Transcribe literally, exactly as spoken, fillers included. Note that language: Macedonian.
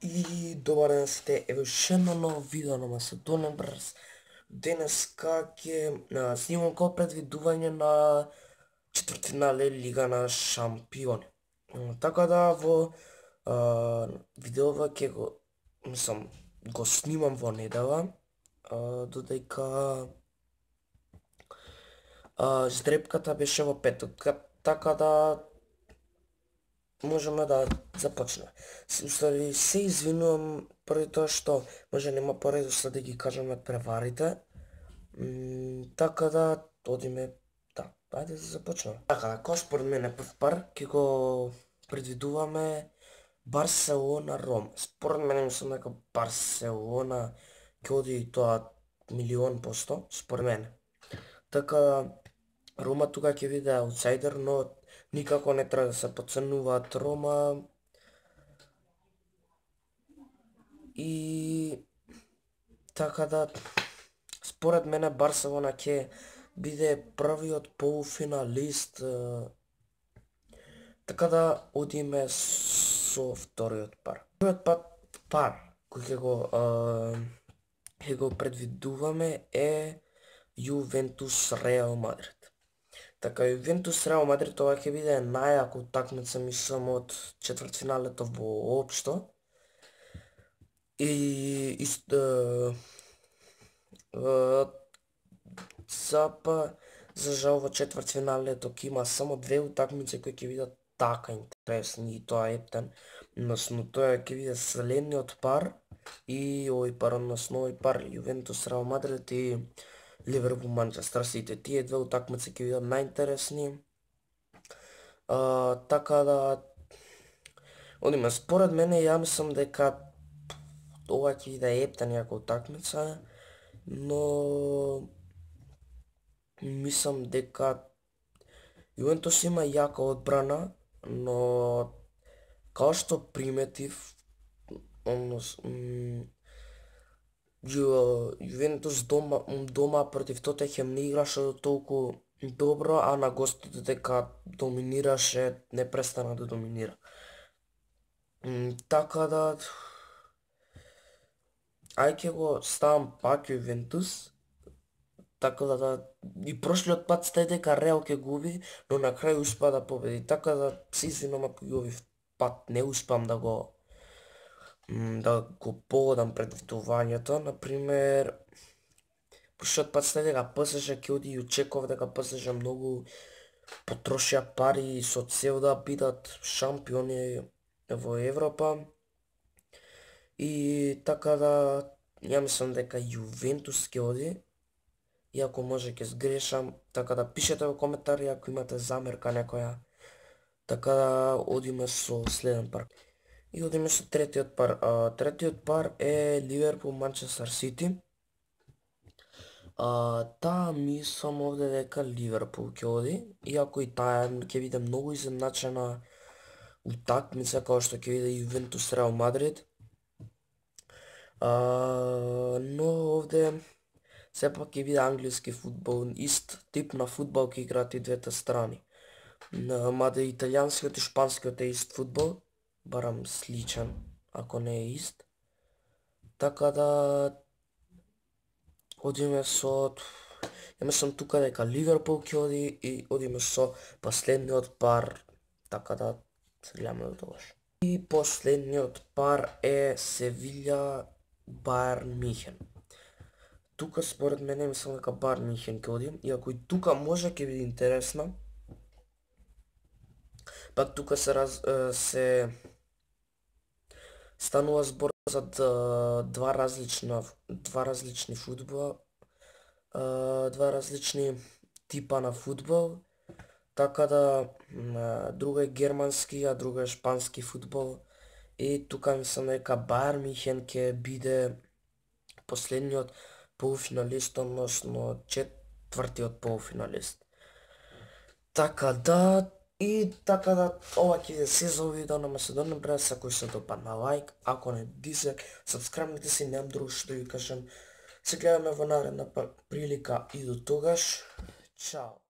И добар ден сите, ево ше едно ново видео на Macedonian Brothers. Денеска ќе снимам како предвидување на четвртфинале Лига на шампиони. Така да во а, видеова ќе го, мислам, го снимам во недела, а, додека а, здрепката беше во петок, така да можеме да започнеме. Устари се извинувам поради тоа што може нема поредослед да ги кажеме преварите. М, така да одиме, да, ајде да започнеме. Така, кој според мене прв пар ќе го предвидуваме Барселона Рома. Според мене мислам дека Барселона ќе оди и тоа милион посто, според мене. Така Рома тука ќе биде аутсайдер, но никако не треба да се потценуваат Рома. И така да според мене Барселона ќе биде првиот полуфиналист. Така да одиме со вториот пар. Вториот пар, пар кој ќе го ќе го предвидуваме е Јувентус Реал Мадрид. Така, Јувентус Реал Мадрид ова ќе биде најака утакмица, мислам, од четвртфиналето воопшто. И исто запа за жал во четвртфиналето ќе има само две утакмици кои ќе бидат така интересни, и тоа ептен, односно тоа ќе биде следниот пар и овој пар, односно овој пар Јувентус Реал Мадрид и Ливерпул Манчестер Сити. Тие две утакмици ќе бидат најинтересни. А, така да одиме, според мене ја мислам дека ова ќе биде ептен јака утакмица, но мислам дека Јувентус има јака одбрана, но као што приметив, односно Јувентус дома, дома против Тотенхем не играше толку добро, а на гости дека доминираше, не престана да доминира. Така да ај ќе го ставам пак Јувентус, така да, да и прошлиот пат стај дека Реал ќе губи, но на крај успеа да победи. Така да се извинувам ако и овој пат не успеам да го да го погодам предвидувањето. Например, прошлиот пат стај дека ПСЖ ќе оди и очекував дека ПСЖ многу потрошија пари со цел да бидат шампиони во Европа. И така да ја мислам дека Јувентус ќе оди, иако може ќе сгрешам, така да пишете во коментари ако имате замерка некоја. Така да одиме со следен пар. И одиме со третиот пар. А, третиот пар е Ливерпул Манчестер Сити. А, таа мислам овде дека Ливерпул ќе оди, иако и таа ќе биде многу изедначена утакмица како што ќе биде Јувентус Реал Мадрид. А, но овде сепак ќе биде англиски фудбал, ист тип на фудбал ќе играат и двете страни. Мада италијанскиот и шпанскиот е ист фудбал, барам сличен, ако не е ист. Така да одиме со, ја мислам тука дека Ливерпул ќе оди и одиме со последниот пар, така да се гледаме до тогаш. И последниот пар е Севиља Бајерн Михен. Тука според мене мислам дека Бајерн Михен ќе оди, иако и тука може ќе биде интересна. Пак тука се раз, се станува збор за два различна два различни фудбала, два различни типа на фудбал. Така да друга е германски, а друга е шпански фудбал. И тука мислам дека Бајерн Михен ќе биде последниот полуфиналист, односно четвртиот полуфиналист. Така да и така да ова ќе биде се за видео на Macedonian Brothers. Ако се допадна лайк, ако не дизлайк, сабскрајбнете се, немам друго што ви кажам. Се гледаме во наредна прилика и до тогаш. Чао.